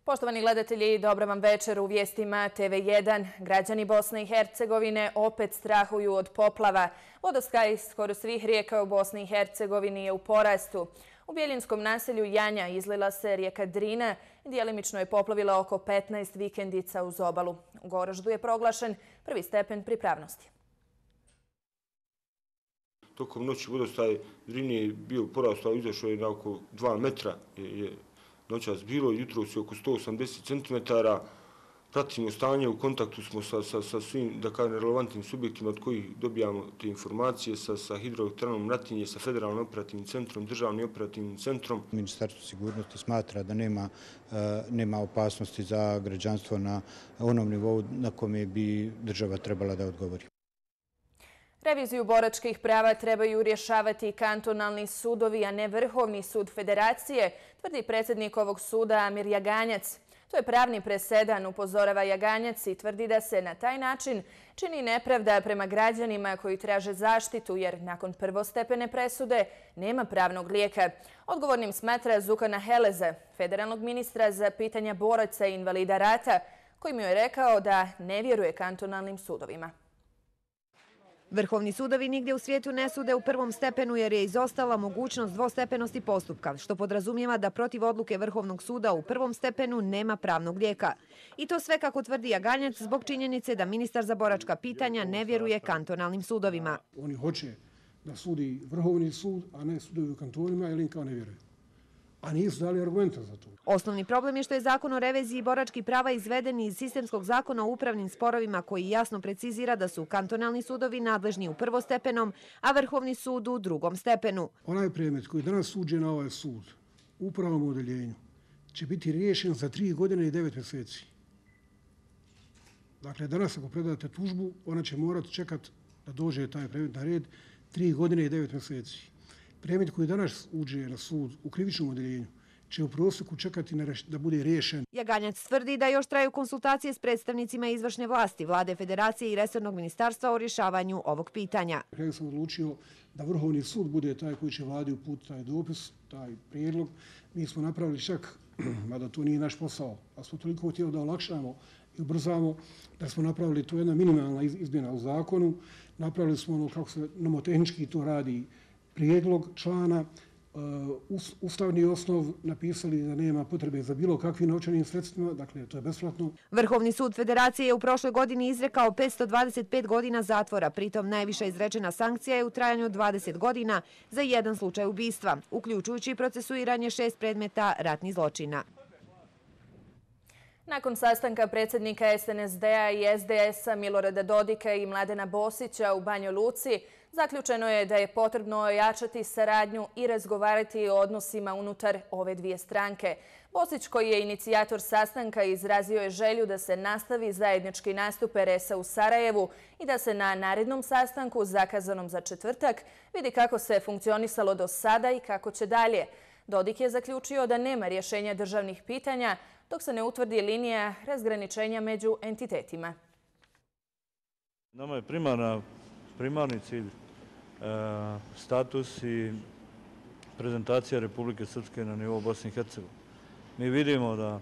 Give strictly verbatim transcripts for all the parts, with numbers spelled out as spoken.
Poštovani gledatelji, dobra vam večer. U vijestima T V jedan. Građani Bosne i Hercegovine opet strahuju od poplava. Vodostaj skoro svih rijeka u Bosni i Hercegovini je u porastu. U Bjeljinskom naselju Janja izlila se rijeka Drina i djelimično je poplavila oko petnaest vikendica uz obalu. U Goraždu je proglašen prvi stepen pripravnosti. Tokom noći vodostaj Drine je bio porastao, izašao je na oko dva metra. Je noćas bilo, jutro su oko sto osamdeset centimetara. Pratimo stanje, u kontaktu smo sa, sa, sa svim da kažem, relevantnim subjektima od kojih dobijamo te informacije, sa, sa hidroelektranom Natinje, sa Federalnim operativnim centrom, Državnim operativnim centrom. Ministarstvo sigurnosti smatra da nema, nema opasnosti za građanstvo na onom nivou na kome bi država trebala da odgovori. Reviziju boračkih prava trebaju rješavati kantonalni sudovi, a ne Vrhovni sud Federacije, tvrdi predsjednik ovog suda Amir Jaganjac. To je pravni presedan, upozorava Jaganjac i tvrdi da se na taj način čini nepravda prema građanima koji traže zaštitu, jer nakon prvostepene presude nema pravnog lijeka. Odgovornim smatra Zukana Heleza, federalnog ministra za pitanja boraca i invalida rata, koji mi je rekao da ne vjeruje kantonalnim sudovima. Vrhovni sudovi nigdje u svijetu ne sude u prvom stepenu jer je izostala mogućnost dvostepenosti postupka, što podrazumijeva da protiv odluke Vrhovnog suda u prvom stepenu nema pravnog lijeka. I to sve, kako tvrdi Jaganjac, zbog činjenice da ministar za boračka pitanja ne vjeruje kantonalnim sudovima. Oni hoće da sudi Vrhovni sud, a ne sudovi u kantonima, jer im kao ne vjeruje. A nisu dali argumenta za to. Osnovni problem je što je zakon o reviziji boračkih prava izveden iz sistemskog zakona o upravnim sporovima koji jasno precizira da su kantonalni sudovi nadležni u prvostepenom, a Vrhovni sud u drugom stepenu. Onaj predmet koji danas suđe na ovaj sud u upravnom odeljenju će biti riješen za tri godine i devet mjeseci. Dakle, danas ako predate tužbu, ona će morati čekati da dođe taj predmet na red tri godine i devet mjeseci. Predmet koji danas uđe na sud u krivičnom odeljenju će u prosjeku čekati da bude riješen. Jaganjac tvrdi da još traju konsultacije s predstavnicima izvršne vlasti, Vlade Federacije i resornog ministarstva o rješavanju ovog pitanja. Ja sam odlučio da Vrhovni sud bude taj koji će vladi uputiti taj dopis, taj prijedlog. Mi smo napravili čak, mada to nije naš posao, a smo toliko htjeli da olakšamo i ubrzamo, da smo napravili to jedna minimalna izmjena u zakonu. Napravili smo ono kako se nomotehnički to radi, prijedlog člana, ustavni osnov, napisali da nema potrebe za bilo kakvim novčanim sredstvima, dakle to je besplatno. Vrhovni sud Federacije je u prošloj godini izrekao petsto dvadeset pet godina zatvora, pritom najviša izrečena sankcija je u trajanju dvadeset godina za jedan slučaj ubistva, uključujući procesuiranje šest predmeta ratnih zločina. Nakon sastanka predsjednika S N S D-a i S D S-a Milorada Dodika i Mladena Bosića u Banjoj Luci, zaključeno je da je potrebno ojačati saradnju i razgovarati o odnosima unutar ove dvije stranke. Bosić, koji je inicijator sastanka, izrazio je želju da se nastavi zajednički nastup R S-a u Sarajevu i da se na narednom sastanku, zakazanom za četvrtak, vidi kako se funkcionisalo do sada i kako će dalje. Dodik je zaključio da nema rješenja državnih pitanja dok se ne utvrdi linija razgraničenja među entitetima. Nama je primarna, primarni cilj e, status i prezentacija Republike Srpske na nivou Bosne i Hercegovine. Mi vidimo da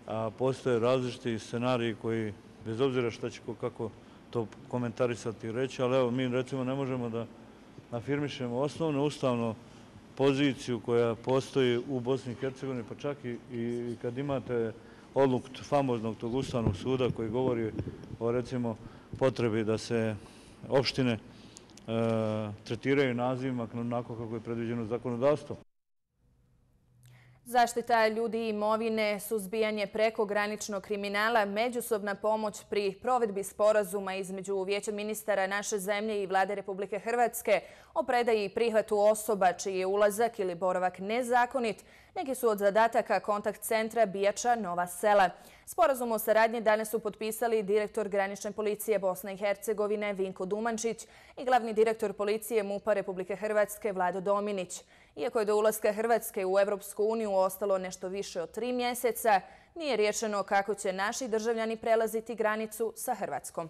a, postoje različiti scenariji koji, bez obzira šta će kako to komentarisati i reći, ali evo mi recimo ne možemo da afirmišemo osnovno ustavno poziciju koja postoji u Bosni i Hercegovini, pa čak i, i kad imate odluku famoznog tog Ustavnog suda koji govori o recimo potrebi da se opštine e, tretiraju nazivima onako kako je predviđeno zakonodavstvom. Zaštita ljudi i imovine, suzbijanje prekograničnog kriminala, međusobna pomoć pri provedbi sporazuma između Vijeća ministara naše zemlje i Vlade Republike Hrvatske o predaji i prihvatu osoba čiji je ulazak ili boravak nezakonit, neki su od zadataka kontakt centra Bijača Nova Sela. Sporazum o saradnji danas su potpisali direktor granične policije Bosne i Hercegovine Vinko Dumančić i glavni direktor policije MUP-a Republike Hrvatske Vlado Dominić. Iako je do ulaska Hrvatske u Evropsku uniju ostalo nešto više od tri mjeseca, nije riješeno kako će naši državljani prelaziti granicu sa Hrvatskom.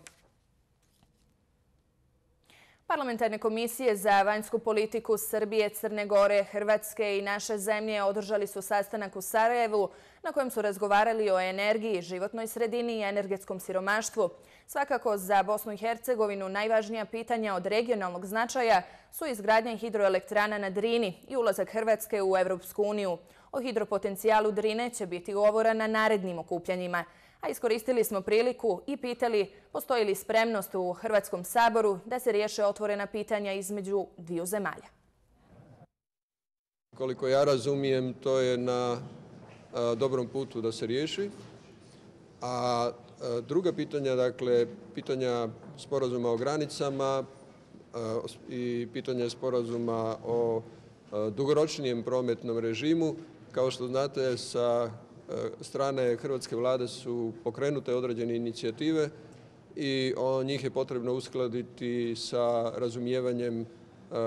Parlamentarne komisije za vanjsku politiku Srbije, Crne Gore, Hrvatske i naše zemlje održali su sastanak u Sarajevu na kojem su razgovarali o energiji, životnoj sredini i energetskom siromaštvu. Svakako za Bosnu i Hercegovinu najvažnija pitanja od regionalnog značaja su izgradnja hidroelektrana na Drini i ulazak Hrvatske u Evropsku uniju. O hidropotencijalu Drine će biti govora na narednim okupljanjima. A iskoristili smo priliku i pitali postoji li spremnost u Hrvatskom saboru da se riješe otvorena pitanja između dviju zemalja. Koliko ja razumijem, to je na a, dobrom putu da se riješi. A, a druga pitanja, dakle, pitanja sporazuma o granicama a, i pitanja sporazuma o a, dugoročnijem prometnom režimu, kao što znate, sa strane hrvatske vlade su pokrenute određene inicijative i o njih je potrebno uskladiti sa razumijevanjem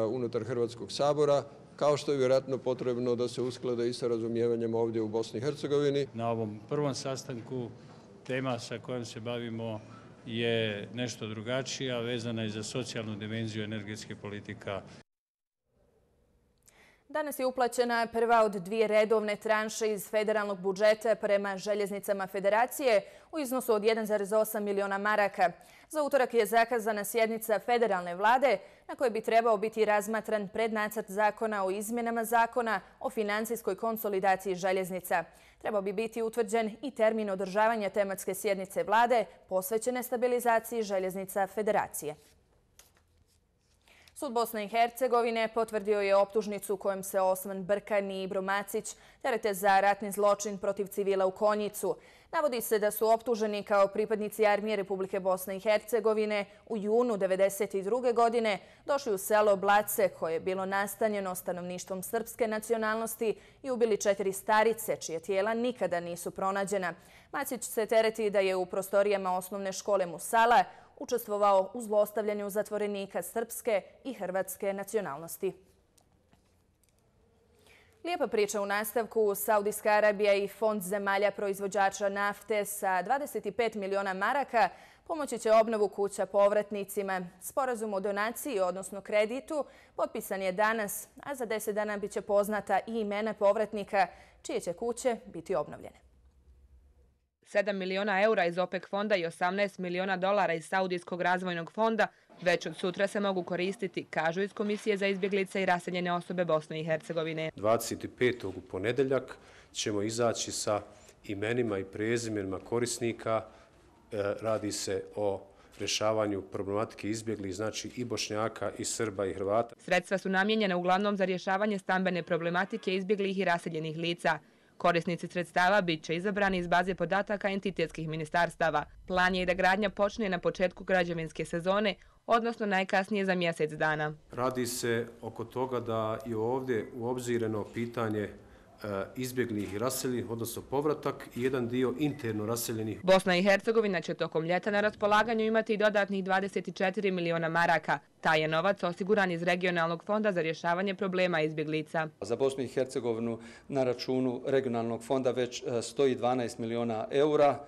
unutar Hrvatskog sabora, kao što je vjerojatno potrebno da se usklade i sa razumijevanjem ovdje u Bosni i Hercegovini. Na ovom prvom sastanku tema sa kojom se bavimo je nešto drugačija, vezana je za socijalnu dimenziju energetske politika. Danas je uplaćena prva od dvije redovne tranše iz federalnog budžeta prema željeznicama federacije u iznosu od jedan zarez osam miliona maraka. Za utorak je zakazana sjednica federalne vlade na kojoj bi trebao biti razmatran prednacrt zakona o izmjenama zakona o financijskoj konsolidaciji željeznica. Trebao bi biti utvrđen i termin održavanja tematske sjednice vlade posvećene stabilizaciji željeznica federacije. Sud Bosne i Hercegovine potvrdio je optužnicu kojom se Osman Brkan i Ibro Macić terete za ratni zločin protiv civila u Konjicu. Navodi se da su optuženi kao pripadnici armije Republike Bosne i Hercegovine u junu devedeset druge godine došli u selo Blace koje je bilo nastanjeno stanovništvom srpske nacionalnosti i ubili četiri starice čije tijela nikada nisu pronađena. Macić se tereti da je u prostorijama osnovne škole Musala učestvovao u zlostavljanju zatvorenika srpske i hrvatske nacionalnosti. Lijepa priča u nastavku. Saudijska Arabija i Fond zemalja proizvođača nafte sa dvadeset pet miliona maraka pomoći će obnovu kuća povratnicima. Sporazum o donaciji, odnosno kreditu, potpisan je danas, a za deset dana biće poznata i imena povratnika čije će kuće biti obnovljene. sedam miliona eura iz OPEC fonda i osamnaest miliona dolara iz Saudijskog razvojnog fonda već od sutra se mogu koristiti, kažu iz Komisije za izbjeglice i raseljene osobe Bosne i Hercegovine. dvadeset petog u ponedeljak ćemo izaći sa imenima i prezimenima korisnika. Radi se o rješavanju problematike izbjeglih, znači i Bošnjaka, i Srba, i Hrvata. Sredstva su namijenjena uglavnom za rješavanje stambene problematike izbjeglih i raseljenih lica. Korisnici sredstava bit će izabrani iz baze podataka entitetskih ministarstava. Plan je i da gradnja počne na početku građevinske sezone, odnosno najkasnije za mjesec dana. Radi se oko toga da je ovdje uobzireno pitanje izbjeglih i raseljenih, odnosno povratak i jedan dio interno raseljenih. Bosna i Hercegovina će tokom ljeta na raspolaganju imati i dodatnih dvadeset četiri miliona maraka. Taj je novac osiguran iz regionalnog fonda za rješavanje problema izbjeglica. Za Bosnu i Hercegovinu na računu regionalnog fonda već stoji dvanaest miliona eura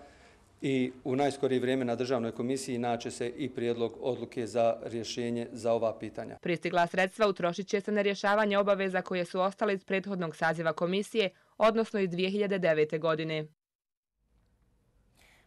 i u najskorije vrijeme na Državnoj komisiji naće se i prijedlog odluke za rješenje za ova pitanja. Pristigla sredstva utrošit će se na rješavanje obaveza koje su ostale iz prethodnog saziva komisije, odnosno iz dvije hiljade devete. godine.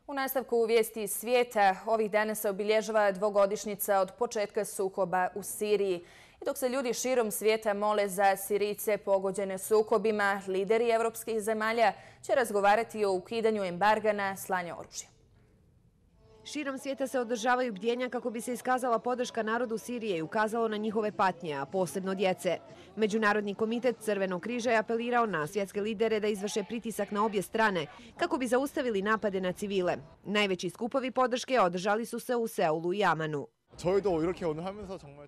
U nastavku vijesti iz svijeta ovih dana se obilježava dvogodišnjica od početka sukoba u Siriji. I dok se ljudi širom svijeta mole za Sirijce pogođene sukobima, lideri evropskih zemalja će razgovarati o ukidanju embarga na slanje oružja. Širom svijeta se održavaju bdjenja kako bi se iskazala podrška narodu Sirije i ukazalo na njihove patnje, a posebno djece. Međunarodni komitet Crvenog križa je apelirao na svjetske lidere da izvrše pritisak na obje strane kako bi zaustavili napade na civile. Najveći skupovi podrške održali su se u Seulu i Amanu.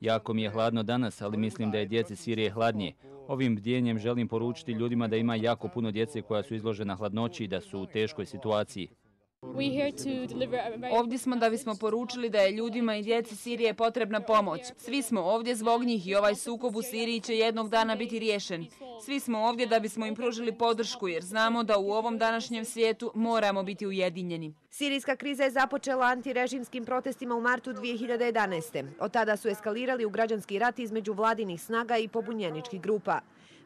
Jako mi je hladno danas, ali mislim da je djeci Sirije hladnije. Ovim bdjenjem želim poručiti ljudima da ima jako puno djece koja su izložena hladnoći i da su u teškoj situaciji. Ovdje smo da bismo poručili da je ljudima i djeci Sirije potrebna pomoć. Svi smo ovdje zbog njih i ovaj sukob u Siriji će jednog dana biti riješen. Svi smo ovdje da bismo im pružili podršku jer znamo da u ovom današnjem svijetu moramo biti ujedinjeni. Sirijska kriza je započela antirežimskim protestima u martu dvije hiljade jedanaeste. Od tada su eskalirali u građanski rat između vladinih snaga i pobunjeničkih grupa.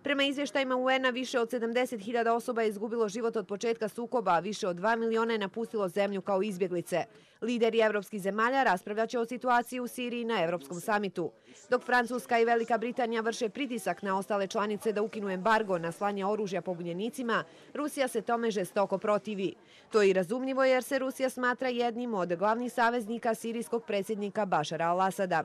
Prema izvještajima U N-a više od sedamdeset hiljada osoba je izgubilo život od početka sukoba, a više od dva miliona je napustilo zemlju kao izbjeglice. Lideri evropskih zemalja raspravljaće o situaciji u Siriji na Evropskom samitu. Dok Francuska i Velika Britanija vrše pritisak na ostale članice da ukinu embargo na slanje oružja pobunjenicima, Rusija se tome žestoko protivi. To je i razumljivo jer se Rusija smatra jednim od glavnih saveznika sirijskog predsjednika Bašara al-Asada.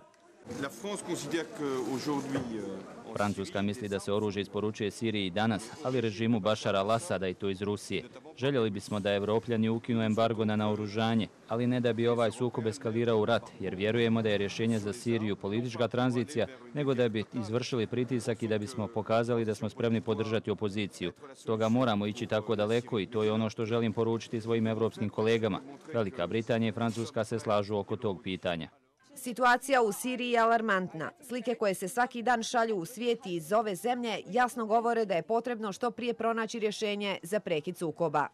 Francuska misli da se oružje isporučuje Siriji danas, ali režimu Bašara al-Asada i to iz Rusije. Željeli bismo da Evropljani ukinu embargo na naoružanje, ali ne da bi ovaj sukob eskalirao u rat, jer vjerujemo da je rješenje za Siriju politička tranzicija, nego da bi izvršili pritisak i da bismo pokazali da smo spremni podržati opoziciju. Stoga moramo ići tako daleko i to je ono što želim poručiti svojim evropskim kolegama. Velika Britanija i Francuska se slažu oko tog pitanja. Situacija u Siriji je alarmantna. Slike koje se svaki dan šalju u svijet i iz ove zemlje jasno govore da je potrebno što prije pronaći rješenje za prekid sukoba.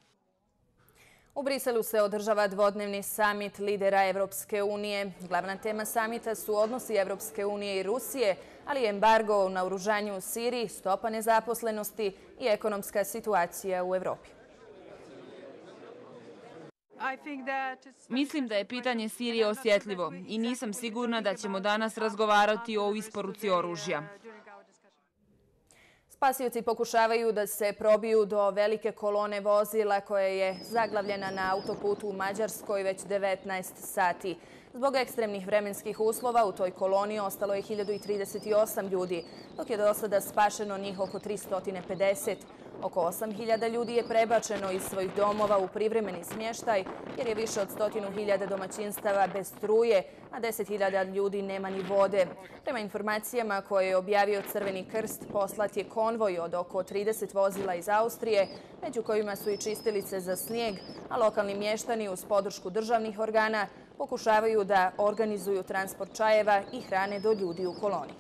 U Briselu se održava dvodnevni samit lidera Evropske unije. Glavna tema samita su odnosi Evropske unije i Rusije, ali i embargo u naoružanju u Siriji, stopa nezaposlenosti i ekonomska situacija u Evropi. Mislim da je pitanje Sirije osjetljivo i nisam sigurna da ćemo danas razgovarati o isporuci oružja. Spasioci pokušavaju da se probiju do velike kolone vozila koja je zaglavljena na autoputu u Mađarskoj već devetnaest sati. Zbog ekstremnih vremenskih uslova u toj koloni ostalo je hiljadu trideset osam ljudi, dok je do sada spašeno njih oko tristo pedeset. Oko osam hiljada ljudi je prebačeno iz svojih domova u privremeni smještaj jer je više od stotinu hiljada domaćinstava bez struje, a deset hiljada ljudi nema ni vode. Prema informacijama koje je objavio Crveni krst, poslat je konvoj od oko trideset vozila iz Austrije, među kojima su i čistilice za snijeg, a lokalni mještani uz podršku državnih organa pokušavaju da organizuju transport čajeva i hrane do ljudi u koloni.